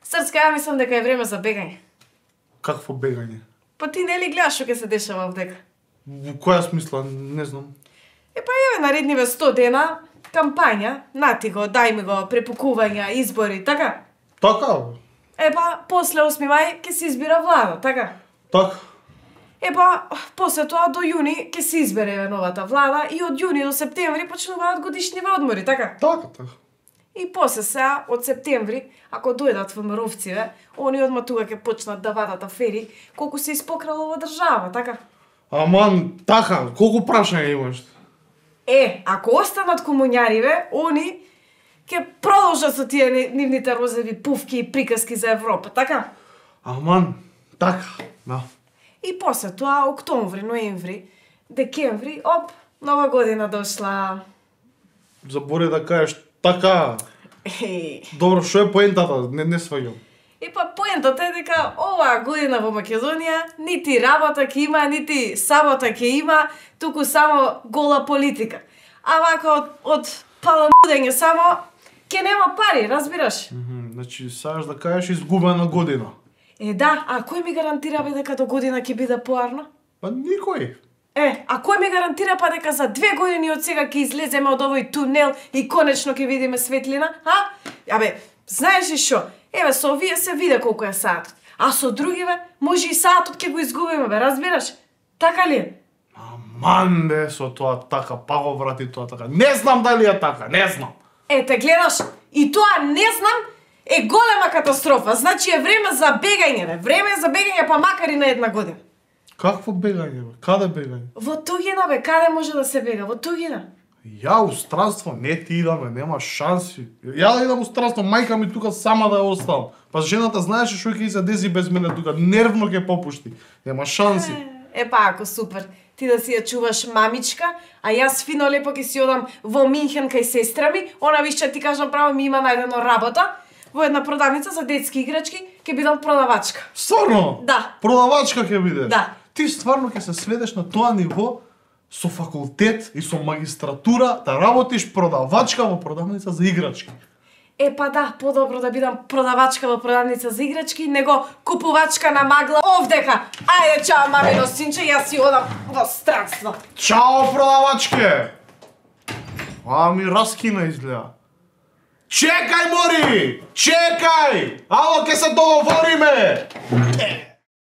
Срцка, ја мислам дека е време за бегање. Какво бегање? Па ти нели гледаш што ќе се дешава овдека? Во која смисла? Не знам. Па еве наредниве 100 дена кампања, нати го, дај ми го, препукувања, избори, така? Така? Па после 8 мај ќе се избира влада, така? Така. Па после тоа до јуни ќе се избере новата влада и од јуни до септември почнуваат годишниве одмори, така? Така. И после сега, од септември, ако дојдат ВМРО-вциве, они одма тука ќе почнат да вадат афери колку се испокрало во држава, така? Аман, така, колку прашања имаш? Ако останат комуњариве, они ќе продолжат со тие нивните розови пувки и приказки за Европа, така? Аман, така, да. И после тоа, октомври, ноември, декември, оп, нова година дошла. Забори да кажеш така. Добро, што е поентата? Не сваѓам. Па поентата е дека оваа година во Македонија нити работа ќе има, нити сабота ќе има, туку само гола политика. А вака од паламудење само ќе нема пари, разбираш? Значи, сакаш да кажеш изгубена година. Да, а кој ми гарантира бе дека до година ќе биде поарна? Па никој. А кој ми гарантира па дека за 2 години од сега ќе излеземе од овој тунел и конечно ќе видиме светлина, знаеш ли шо? Еве со овие се виде колку е саатот, а со другиве може и саатот ќе го изгубиме, бе, разбираш? Така ли е? Аман бе, со тоа така, па го врати тоа така. Не знам дали е така, не знам. Те гледаш, и тоа не знам е голема катастрофа. Значи е време за бегање, бе. Време е за бегање, па макар и на 1 година. Какво бегање, бе? Каде бегање? Во туѓина, бе, каде може да се бега? Во туѓина. Ја у странство не ти идаме, нема шанси. Ја да идам у странство, мајка ми тука сама да ја оставам. Па жената знаеше што ќе се деси без мене тука, нервно ќе попушти. Нема шанси. Па ако супер. Ти да си ја чуваш мамичка, а јас фино лепо ќе си одам во Минхен кај сестра ми, она више ти кажам право ми има најдено работа. Во една продавница за детски играчки ќе бидам продавачка. Стварно? Да. Продавачка ќе бидеш? Да. Ти стварно ќе се сведеш на тоа ниво со факултет и со магистратура да работиш продавачка во продавница за играчки. Па да, подобро да бидам продавачка во продавница за играчки, него купувачка на магла овдека. Ајде, чао, мамино синче, јас си одам во странство. Чао, продавачке! Ми раскина изгледа. Чекај, мори! Чекај! Ало, ке се договориме!